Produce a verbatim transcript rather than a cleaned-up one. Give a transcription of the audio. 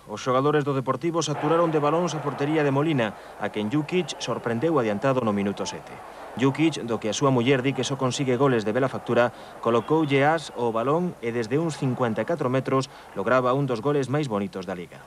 Os xogadores do Deportivo saturaron de balóns a portería de Molina, a quen Jukic sorprendeu adiantado no minuto sete. Jukic, do que a súa muller di que só consigue goles de bela factura, colocoulle as ao balón e desde uns cincuenta e catro metros lograba un dos goles máis bonitos da Liga.